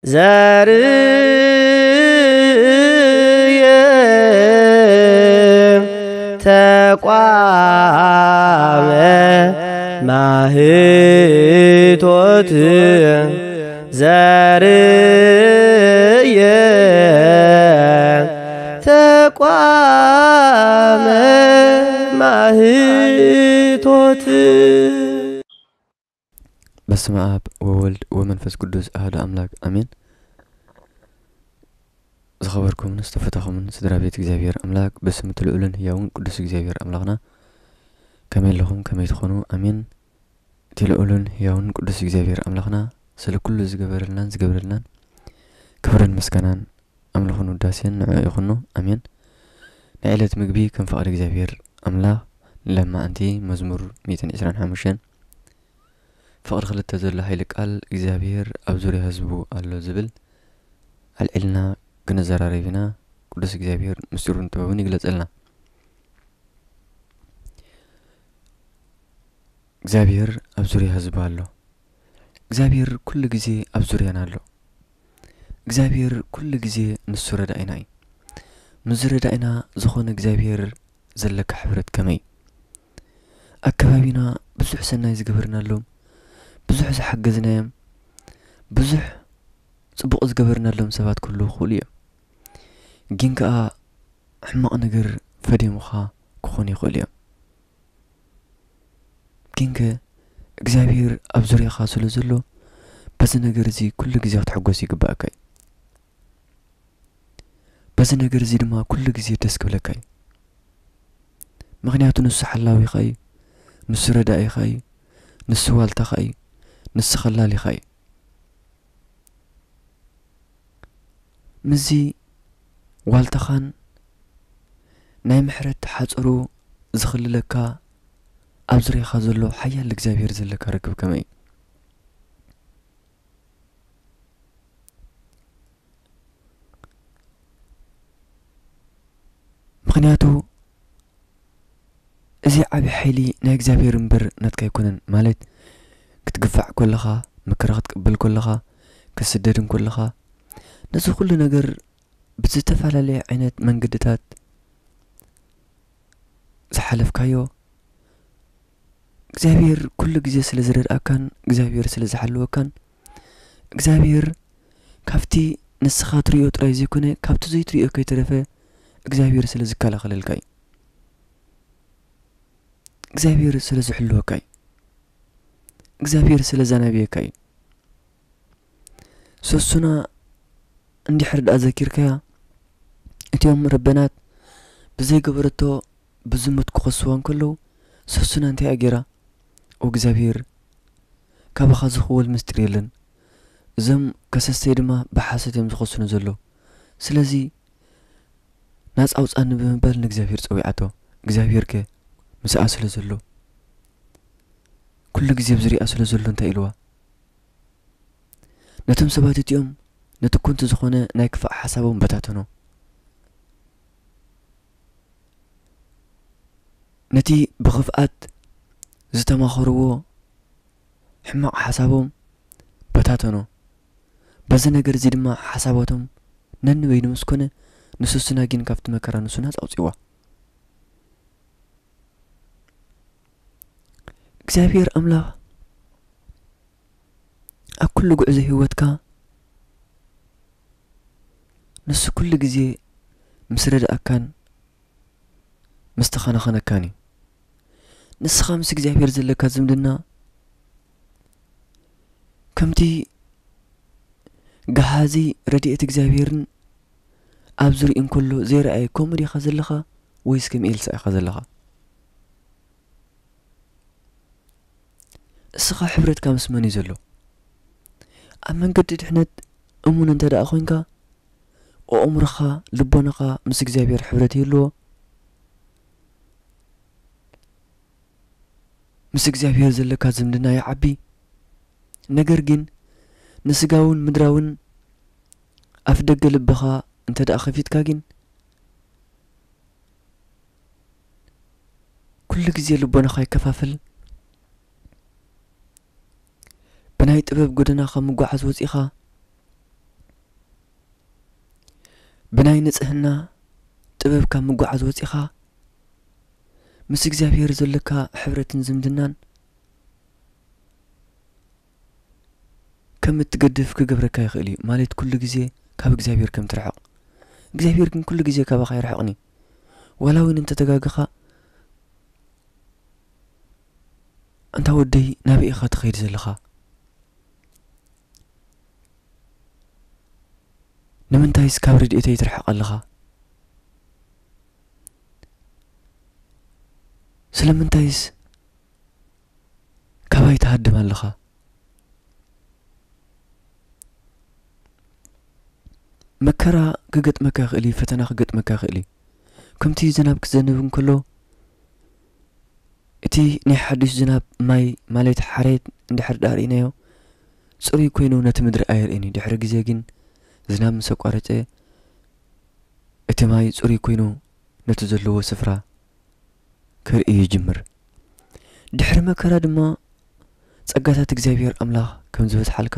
ዘርየ ተቋመ ማህቶት ዘርየ ተቋመ ማህቶት። በስመ አብ ወወልድ ወመንፈስ ቅዱስ አሐዱ አምላክ አሜን። ዝኸበርኩምን ዝተፈታኹምን ስድራ ቤት እግዚኣብሔር ኣምላክ፣ ብስም እቲ ልዑልን ህያውን ቅዱስ እግዚኣብሔር ኣምላኽና፣ ከመይ ኣለኹም? ከመይ ትኾኑ? ኣሜን። እቲ ልዑልን ህያውን ቅዱስ እግዚኣብሔር ኣምላኽና ስለ ኩሉ ዝገበረልናን ዝገብረልናን ክብርን ምስጋናን ኣምልኾን ውዳሴን ንዕኡ ይኹኖ። ኣሜን። ናይ ዕለት ምግቢ ከም ፍቓድ እግዚኣብሔር ኣምላኽ ንለማዓንቲ። መዝሙር ሚእትን ዕስራን ሓሙሽተን ፍቕዲ ክልተ ዘሎ ሓይሊ ቃል እግዚኣብሔር ኣብ ዙርያ ህዝቡ ኣሎ ዝብል ኣልዒልና ክንዘራረብ ኢና። ቅዱስ እግዚኣብሔር ምስጢሩን ጥበቡን ይግለጸልና። እግዚኣብሔር ኣብ ዙርያ ህዝቡ ኣሎ። እግዚኣብሔር ኩሉ ግዜ ኣብ ዙርያና ኣሎ። እግዚኣብሔር ኩሉ ግዜ ንሱ ረዳኢና እዩ። ምስዚ ረዳኢና ዝኾነ እግዚኣብሔር ዘለካ ሕብረት ከመይ? ኣብ ከባቢና ብዙሕ ሰናይ ዝገበርናሎም፣ ብዙሕ ዝሓገዝናዮም፣ ብዙሕ ጽቡቕ ዝገበርናሎም ሰባት ክህልዉ ይኽእሉ እዮም። ግን ከኣ ሕማቕ ነገር ፈድዮምኻ ክኾኑ ይኽእሉ እዮም። ግንከ እግዚኣብሔር ኣብ ዙርያኻ ስለ ዘሎ፣ በዚ ነገር እዚ ኩሉ ግዜ ክትሕጎስ ይግባኣካ እዩ። በዚ ነገር እዚ ድማ ኩሉ ግዜ ደስ ክብለካ እዩ። ምኽንያቱ ንሱ ሓላዊኻ እዩ፣ ንሱ ረዳኢኻ እዩ፣ ንሱ ዋልታኻ እዩ፣ ንሱ ኸላሊኻ እዩ። ምስዚ ዋልታኻን ናይ ምሕረት ሓጹሩ ዝኽልለካ ኣብ ዙርያኻ ዘሎ ሓያል እግዚኣብሔር ዘለካ ርክብ ከመይ እዩ? ምኽንያቱ እዚ ዓቢ ሓይሊ ናይ እግዚኣብሔር እምበር ናትካ ኣይኮነን። ማለት ክትግፋዕ ከለኻ፣ መከራ ክትቅበል ከለኻ፣ ክትስደድ እንከለኻ፣ ነዚ ኩሉ ነገር ብዝተፈላለየ ዓይነት መንገድታት ዝሓለፍካዮ፣ እግዚኣብሔር ኩሉ ግዜ ስለ ዝረድኣካን እግዚኣብሔር ስለ ዝሓልወካን፣ እግዚኣብሔር ካብቲ ንስኻ ትርእዮ ጥራይ ዘይኮነ፣ ካብቲ ዘይትርእዮ ከይተረፈ እግዚኣብሔር ስለ ዝከላኸለልካ እዩ። እግዚኣብሔር ስለ ዝሕልወካ እዩ። እግዚኣብሔር ስለ ዘናብየካ እዩ። ሰሱና እንድሕር ደኣ ዘኪርካያ፣ እቲኦም ረበናት ብዘይገበረቶ ብዝሙት ክኸስዋ እንከለዉ፣ ሰሱና እንታይ እያ ገይራ? "ኦ እግዚኣብሔር፣ ካባኻ ዝኽወል ምስጢር የለን። እዞም ከሰስተይ ድማ ብሓሶት እዮም ዝኸሱኒ ዘለዉ። ስለዚ ናጻ ኣውጻኒ" ብምባል ንእግዚኣብሔር ጸዊዓቶ። እግዚኣብሔር ከ ምስኣ ስለ ዘሎ፣ ኩሉ ግዜ ብዝሪኣ ስለ ዘሎ እንታይ ኢልዋ? ነቶም ሰባት እቲኦም ነቲ ኮንቱ ዝኾነ ናይ ክፋእ ሓሳቦም በታተኖ። ነቲ ብኽፍኣት ዝተማኸርዎ ሕማቕ ሓሳቦም በታተኖ። በዚ ነገር እዚ ድማ ሓሳባቶም ነንበይኑ ምስ ኮነ፣ ንሰሱና ግን ካብቲ መከራ ንሱ ናጻ ኣውጺእዋ። እግዚኣብሔር ኣምላኽ ኣብ ኩሉ ጉዕዞ ህይወትካ ንሱ ኩሉ ግዜ ምስ ረድኣካን ምስ ተኸናኸነካን እዩ። ንስኻ ምስ እግዚኣብሔር ዘለካ ዝምድና ከምቲ ገሃዚ ረድኤት እግዚኣብሔርን ኣብ ዝርኢ እንከሎ ዘይረኣየ ከምኡ ዲኻ ዘለኻ ወይስ ከም ኤልሳ ኢኻ ዘለኻ? እስኻ ሕብረትካ ምስ መን እዩ ዘሎ? ኣብ መንገዲ ድሕነት እሙን እንተ ደኣ ኾይንካ፣ ኣእምሮኻ፣ ልቦናኻ ምስ እግዚኣብሔር ሕብረት ይህልዎ። ምስ እግዚኣብሔር ዘለካ ዝምድና ይዓቢ። ነገር ግን ንስጋውን ምድራውን ኣፍ ደገ ልብኻ እንተ ደኣ ኸፊትካ ግን፣ ኩሉ ግዜ ልቦናኻ ይከፋፈል። ብናይ ጥበብ ጎደና ካብ ምጓዓዝ ወጺኻ፣ ብናይ ንጽህና ጥበብ ካብ ምጉዓዝ ወጺኻ፣ ምስ እግዚኣብሔር ዘለካ ሕብረትን ዝምድናን ከም እትገድፍ ክገብረካ ይኽእል እዩ። ማለት ኩሉ ግዜ ካብ እግዚኣብሔር ከም ትርሕቕ። እግዚኣብሔር ግን ኩሉ ግዜ ካባኻ ኣይርሕቕን እዩ። ዋላ እውን እንተተጋገኻ፣ ኣንታ ወደይ ናበይ ኢኻ ትኸይድ ዘለኻ? ንምንታይስ ካብ ረድኤተይ ትርሕቕ ኣለኻ? ስለምንታይስ ካባይ ትሃድም ኣለኻ? መከራ ክገጥመካ ይኽእል እዩ፣ ፈተና ክገጥመካ ይኽእል እዩ። ከምቲ ዝናብ ክዘንብ እንከሎ፣ እቲ ናይ ሓድሽ ዝናብ ማይ፣ ማለት ሓሬት፣ እንድሕር ደኣ ርኢናዮ፣ ጽሩይ ኮይኑ ነቲ ምድሪ ኣየርእን እዩ። ድሕሪ ግዜ ግን ዝናብ ምስ ኣቋረጸ፣ እቲ ማይ ጽሩይ ኮይኑ ነቲ ዘለዎ ስፍራ ከርኢ ይጅምር። ድሕሪ መከራ ድማ ጸጋታት እግዚኣብሔር ኣምላኽ ከም ዝበዝሓልካ፣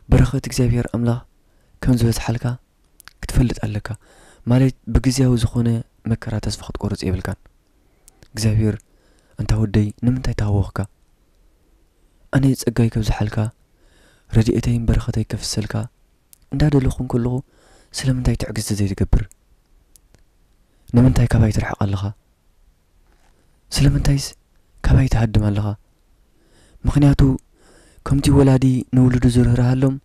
በረኸት እግዚኣብሔር ኣምላኽ ከም ዝበዝሓልካ ክትፈልጥ ኣለካ። ማለት ብግዜያዊ ዝኾነ መከራ ተስፋ ክትቆርጽ የብልካን። እግዚኣብሔር፣ ኣንታ ወደይ ንምንታይ ተሃወኽካ? ኣነ ጸጋይ ከብዝሓልካ፣ ረድኤተይን በረኸተይ ከፍሰልካ እንዳደለኹ እንከለኹ፣ ስለምንታይ ትዕግስቲ ዘይትገብር? ንምንታይ ካባይ ትርሕቕ ኣለኻ? ስለምንታይስ ካባይ ትሃድም ኣለኻ? ምኽንያቱ ከምቲ ወላዲ ንውሉዱ ዝርህርሃሎም፣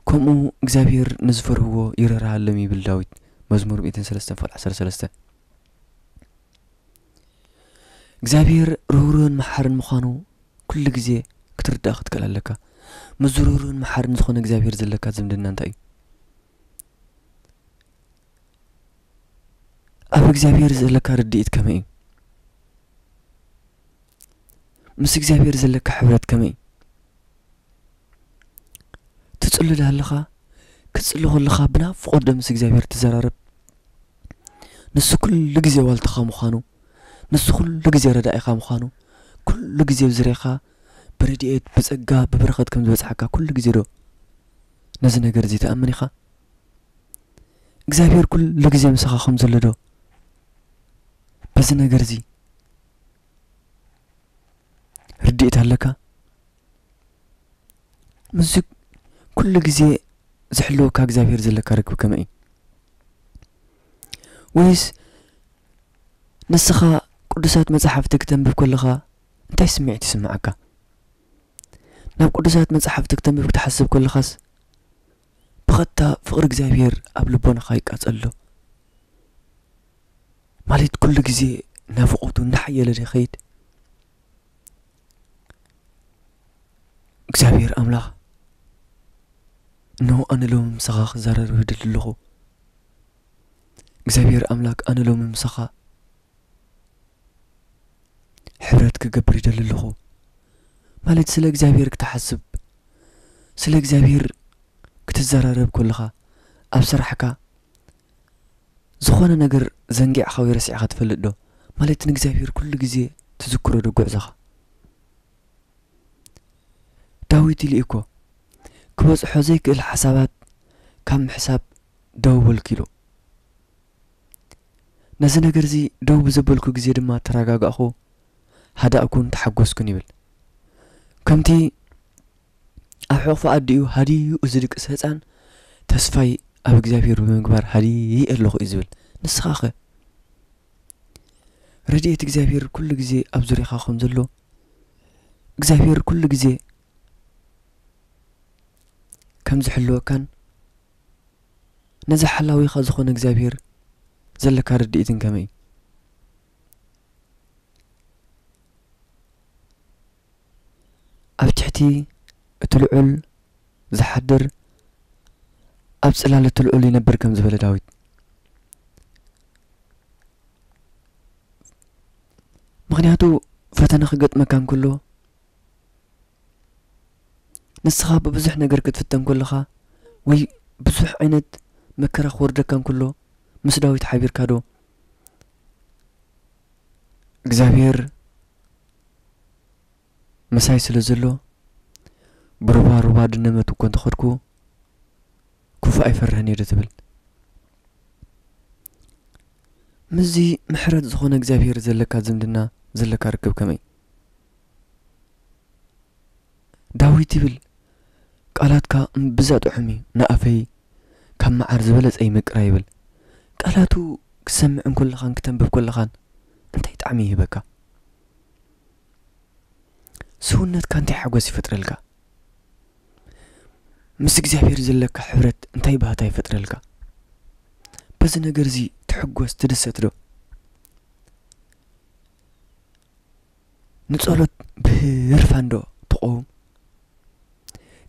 ከምኡ እግዚኣብሔር ንዝፈርህዎ ይርህርሃሎም ይብል ዳዊት፣ መዝሙር ሚእትን ሰለስተን ፍቕዲ ዓሰርተ ሰለስተ። እግዚኣብሔር ርህሩህን መሓርን ምዃኑ ኩሉ ግዜ ክትርዳእ ክትክእል ኣለካ። ምስ ርህሩህን መሓርን ዝኾነ እግዚኣብሔር ዘለካ ዝምድና እንታይ እዩ? ኣብ እግዚኣብሔር ዘለካ ርድኢት ከመይ እዩ? ምስ እግዚኣብሔር ዘለካ ሕብረት ከመይ እዩ? ትጽሊ ዶ ኣለኻ? ክትጽሊ ከለኻ ብናፍቖት ዶ ምስ እግዚኣብሔር ትዘራረብ? ንሱ ኩሉ ግዜ ዋልታኻ ምዃኑ፣ ንሱ ኩሉ ግዜ ረዳኢኻ ምዃኑ፣ ኩሉ ግዜ ኣብ ዙርያኻ ብረድኤት፣ ብጸጋ፣ ብበረኸት ከም ዝበጽሓካ ኩሉ ግዜ ዶ ነዚ ነገር እዚ ትኣምን ኢኻ? እግዚኣብሔር ኩሉ ግዜ ምሳኻ ከም ዘሎ ዶ በዚ ነገር እዚ ርድኢት ኣለካ? ምስዚ ኩሉ ግዜ ዝሕልወካ እግዚኣብሔር ዘለካ ርክብ ከመይ እዩ? ወይስ ንስኻ ቅዱሳት መጻሕፍቲ ክተንብብ ከለኻ እንታይ ስምዒት ይስምዓካ? ናብ ቅዱሳት መጻሕፍቲ ክተንብብ ክትሓስብ ከለኻስ ብቐጥታ ፍቕሪ እግዚኣብሔር ኣብ ልቦናኻ ይቃጸል ዶ? ማለት ኩሉ ግዜ ናፍቖቱ እናሓየለ ዶ ይኸይድ? እግዚኣብሔር ኣምላኽ፣ እንሆ ኣነ ሎሚ ምሳኻ ክዛረብ ይደሊ ኣለኹ። እግዚኣብሔር ኣምላክ፣ ኣነ ሎሚ ምሳኻ ሕብረት ክገብር ይደሊ ኣለኹ። ማለት ስለ እግዚኣብሔር ክትሓስብ፣ ስለ እግዚኣብሔር ክትዘራረብ ከለኻ፣ ኣብ ስራሕካ ዝኾነ ነገር ዘንጊዕኻ ወይ ረሲዕኻ ትፈልጥ ዶ? ማለት ንእግዚኣብሔር ኩሉ ግዜ ትዝክሮ ዶ ጉዕዞኻ? ዳዊት ኢሉ እኮ፣ ክበጽሖ ዘይክእል ሓሳባት ካብ ምሕሳብ ደው በልኩ ኢሉ። ነዚ ነገር እዚ ደው ብዘበልኩ ግዜ ድማ ተረጋጋእኹ፣ ሃዳእኩን ተሓጎስኩን ይብል። ከምቲ ኣብ ሕቑፊ ኣዲኡ ሃዲኡ ዝድቅስ ህጻን፣ ተስፋይ ኣብ እግዚኣብሔር ብምግባር ሃዲእ ኣለኹ እዩ ዝብል። ንስኻ ኸ? ረድኤት እግዚኣብሔር ኩሉ ግዜ ኣብ ዙርያኻ ከም ዘሎ፣ እግዚኣብሔር ኩሉ ግዜ ከም ዝሕልወካን፣ ነዚ ሓላዊኻ ዝኾነ እግዚኣብሔር ዘለካ ርድኢትን ከመይ እዩ? ኣብ ትሕቲ እቲ ልዑል ዝሓድር፣ ኣብ ጽላል እቲ ልዑል ይነብር ከም ዝበለ ዳዊት። ምኽንያቱ ፈተነ ክገጥመካ እንከሎ፣ ንስኻ ብብዙሕ ነገር ክትፍተን ከለኻ፣ ወይ ብዙሕ ዓይነት መከራ ክወርደካ እንከሎ፣ ምስ ዳዊት ሓቢርካ ዶ እግዚኣብሔር ምሳይ ስለ ዘሎ፣ ብሩባ ሩባ ድነመት እኮ እንተኸድኩ፣ ክፉእ ኣይፈርህን እየ ዶ ትብል? ምስዚ ምሕረት ዝኾነ እግዚኣብሔር ዘለካ ዝምድና፣ ዘለካ ርክብ ከመይ? ዳዊት ይብል፣ "ቃላትካ እምብዛ ጥዑም እዩ፣ ንኣፈይ ካብ መዓር ዝበለጸ ይመቅራ" ይብል። ቃላቱ ክትሰምዕ እንከለኻን ክተንብብ ከለኻን እንታይ ጣዕሚ ይህበካ? ስውነትካ እንታይ ሓጎስ ይፈጥረልካ? ምስ እግዚኣብሔር ዘለካ ሕብረት እንታይ ባህታ ይፈጥረልካ? በዚ ነገር እዚ ትሕጎስ፣ ትድሰት ዶ? ንጸሎት ብህርፋን ዶ ትቐውም?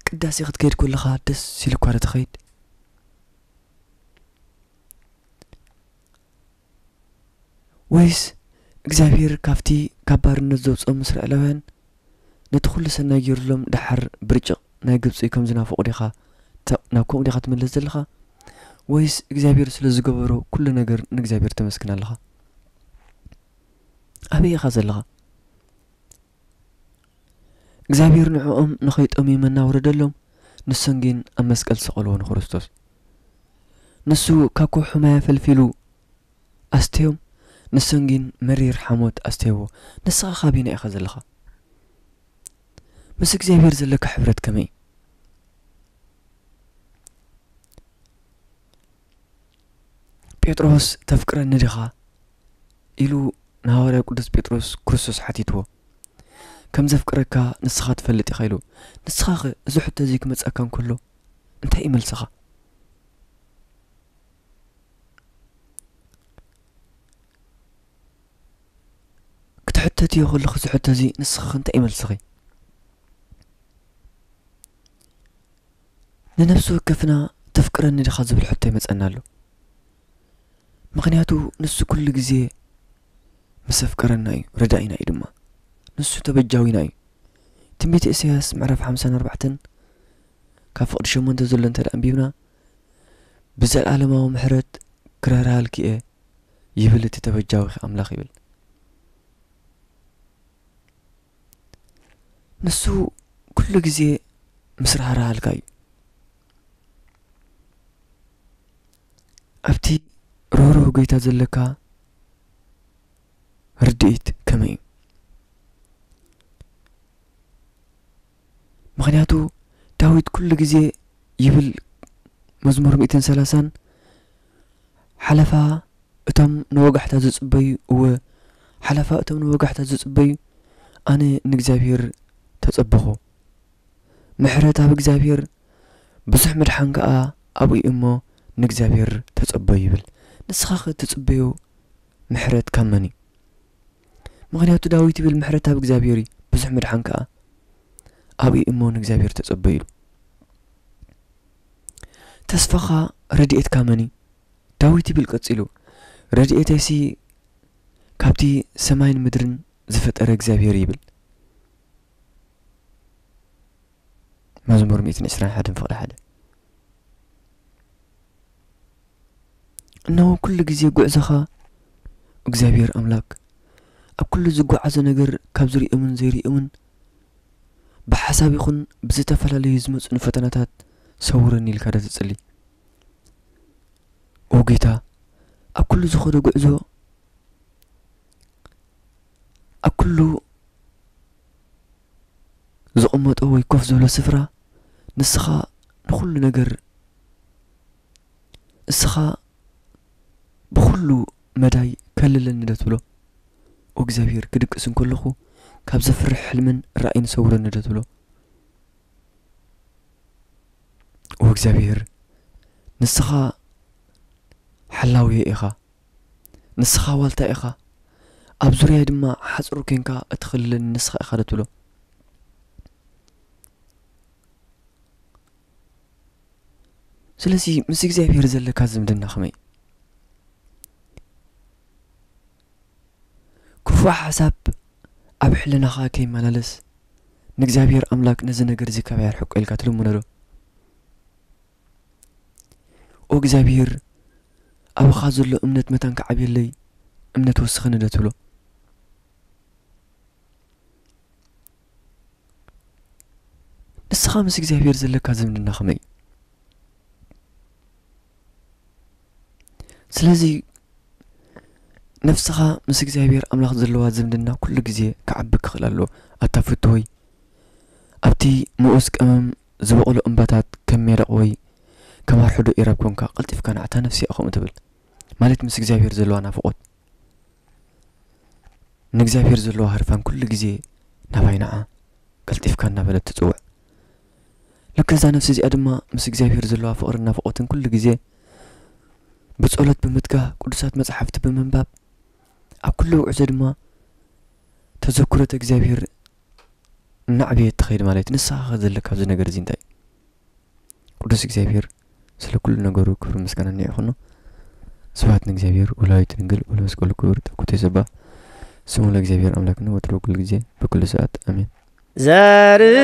ቅዳሴ ክትከይድ ከለኻ ደስ ኢሉካ ዶ ትኸይድ? ወይስ እግዚኣብሔር ካብቲ ካብ ባርነት ዘውጽኦም እስራኤላውያን ነቲ ኩሉ ሰናይ ገይሩሎም ደሓር ብርጭቕ ናይ ግብጺ ከም ዝናፈቑ ዲኻ ተ-፣ ናብ ከምኡ ዲኻ ትምለስ ዘለኻ? ወይስ እግዚኣብሔር ስለ ዝገበሮ ኩሉ ነገር ንእግዚኣብሔር ተመስግን ኣለኻ? ኣበይ ኢኻ ዘለኻ? እግዚኣብሔር ንዕኦም ንኸይጠምዩ መና ወረደሎም፣ ንሶም ግን ኣብ መስቀል ሰቐልዎ ንክርስቶስ። ንሱ ካብ ከውሒ ማይ ኣፈልፊሉ ኣስተዮም፣ ንሶም ግን መሪር ሓሞት ኣስተይዎ። ንስኻ ካበየናይ ኢኻ ዘለኻ? ምስ እግዚኣብሔር ዘለካ ሕብረት ከመይ? ጴጥሮስ "ተፍቅረኒ ዲኻ?" ኢሉ ንሃዋርያ ቅዱስ ጴጥሮስ ክርስቶስ ሓቲትዎ። "ከም ዘፍቅረካ ንስኻ ትፈልጥ ኢኻ" ኢሉ። ንስኻኸ እዚ ሕቶ እዚ ክመጻካ እንከሎ እንታይ እዩ መልስኻ? ክትሕተትዮ ከለኺ እዚ ሕቶ እዚ ንስኺ እንታይ እዩ መልስኺ? ንነፍሲ ወከፍና "ተፍቅረኒ ዲኻ?" ዝብል ሕቶ ይመጸና ኣሎ። ምኽንያቱ ንሱ ኩሉ ግዜ ምስ ኣፍቀረና እዩ፣ ረዳኢና እዩ ድማ። ንሱ ተበጃዊና እዩ። ትንቢት ኢሳያስ ምዕራፍ ሓምሳን ኣርባዕተን ካብ ፍቕዲ ሸሞንተ ዘሎ እንተ ደኣ ኣንቢብና፣ "ብዘለኣለማዊ ምሕረት ክረራሃልኪ እየ" ይብል እቲ ተበጃዊኺ ኣምላኽ ይብል። ንሱ ኩሉ ግዜ ምስ ራህራሃልካ እዩ። ኣብቲ ርህሩህ ጎይታ ዘለካ ርድኢት ከመይ እዩ? ምኽንያቱ ዳዊት ኩሉ ግዜ ይብል፣ መዝሙር ሚእትን ሰላሳን፣ ሓለፋ እቶም ንወጋሕታ ዝጽበዩ፣ እወ፣ ሓለፋ እቶም ንወጋሕታ ዝጽበዩ፣ ኣነ ንእግዚኣብሔር ተጸበኹ። ምሕረት ኣብ እግዚኣብሔር፣ ብዙሕ ምድሓን ከኣ ኣብኡ እሞ ንእግዚኣብሔር ተጸበዩ ይብል። ንስኻ ኸ ትጽበዮ ምሕረት ካብ መን እዩ? ምኽንያቱ ዳዊት ይብል፣ "ምሕረት ኣብ እግዚኣብሔር እዩ፣ ብዙሕ ምድሓን ከኣ ኣብኡ እሞ ንእግዚኣብሔር ተጸበዩ" ኢሉ። ተስፋኻ ረድኤትካ መን እዩ? ዳዊት ይብል ቀጺሉ፣ "ረድኤተይሲ ካብቲ ሰማይን ምድርን ዝፈጠረ እግዚኣብሔር" ይብል። መዝሙር ሚእትን ዕስራን ሓደን ፍቕዲ ሓደ። እነሆ ኩሉ ግዜ ጉዕዞኻ እግዚኣብሔር ኣምላክ ኣብ ኩሉ ዝጓዓዞ ነገር ካብ ዝርእዮምን ዘይርእዮምን ብሓሳብ ይኹን ብዝተፈላለዩ ዝመጹኒ ፈተናታት ሰውረኒ ኢልካ ዶ ትጽሊ? ኦ ጌታ፣ ኣብ ኩሉ ዝኸዶ ጉዕዞ፣ ኣብ ኩሉ ዝቕመጦ ወይ ኮፍ ዝብሎ ስፍራ ንስኻ ንኹሉ ነገር፣ ንስኻ ብኹሉ መዳይ ከልለኒ ዶ ትብሎ? ኦ እግዚኣብሔር፣ ክድቅስ እንከለኹ ካብ ዘፍርሕ ሕልምን ራእይን ሰውረኒ ዶ ትብሎ? ኦ እግዚኣብሔር፣ ንስኻ ሓላውየ ኢኻ፣ ንስኻ ዋልታ ኢኻ፣ ኣብ ዙርያይ ድማ ሓጹር ኴንካ እትኸልለኒ ንስኻ ኢኻ ዶ ትብሎ? ስለዚ ምስ እግዚኣብሔር ዘለካ ዝምድና ከመይ? ክፉእ ሓሳብ ኣብ ሕልናኻ ከይመላለስ፣ ንእግዚኣብሔር ኣምላክ ነዚ ነገር እዚ ካባይ ኣርሕቆ ኢልካ ትልምኖ ዶ? ኦ እግዚኣብሔር፣ ኣብኻ ዘሎ እምነት መታን ክዓብየለይ እምነት ወስኸኒ ዶ ትብሎ? ንስኻ ምስ እግዚኣብሔር ዘለካ ዝምድና ከመይ እዩ? ስለዚ ነፍስኻ ምስ እግዚኣብሔር ኣምላኽ ዘለዋ ዝምድና ኩሉ ግዜ ክዓቢ ክኽእል ኣለዎ። ኣታ ፍትወይ፣ ኣብቲ ምኡዝ ቀመም ዝበቑሉ እምባታት ከም ሜደቕ ወይ ከም ኣርሕዶ ኢራብ ኮንካ፣ ቀልጢፍካ ንዓታ ነፍሲ እያ ከምኡ ትብል። ማለት ምስ እግዚኣብሔር ዘለዋ ናፍቖት፣ ንእግዚኣብሔር ዘለዋ ህርፋን ኩሉ ግዜ ናባይ ንዓ፣ ቀልጢፍካ እናበለት ትጽውዕ። ልክዕ እዛ ነፍሲ እዚኣ ድማ ምስ እግዚኣብሔር ዘለዋ ፍቕርን ናፍቖትን ኩሉ ግዜ ብጸሎት ብምትጋህ፣ ቅዱሳት መጻሕፍቲ ብምንባብ፣ ኣብ ኩሉ ውዕዘ ድማ ተዘክሮተ እግዚኣብሔር እናዕበየት ትኸይድ ማለት እዩ። ንስኻ ከ ዘለካ ኣብዚ ነገር እዚ እንታይ እዩ? ቅዱስ እግዚኣብሔር ስለ ኩሉ ነገሩ ክብሪ ምስጋና ይኹኖ። ስብሐት ንእግዚኣብሔር ወለወላዲቱ ድንግል ወለመስቀሉ ክቡር። ተኩተ ይሰባሕ ስሙ ለእግዚኣብሔር ኣምላክነ ወትሩ ኩሉ ግዜ በኩሉ ሰዓት ኣሜን። ዘርየ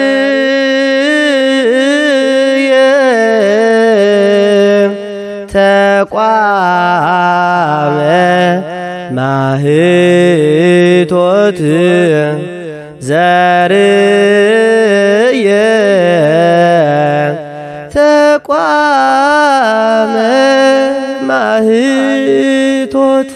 ተቋመ ማህቶት ዘርየ ተቋመ ማህቶት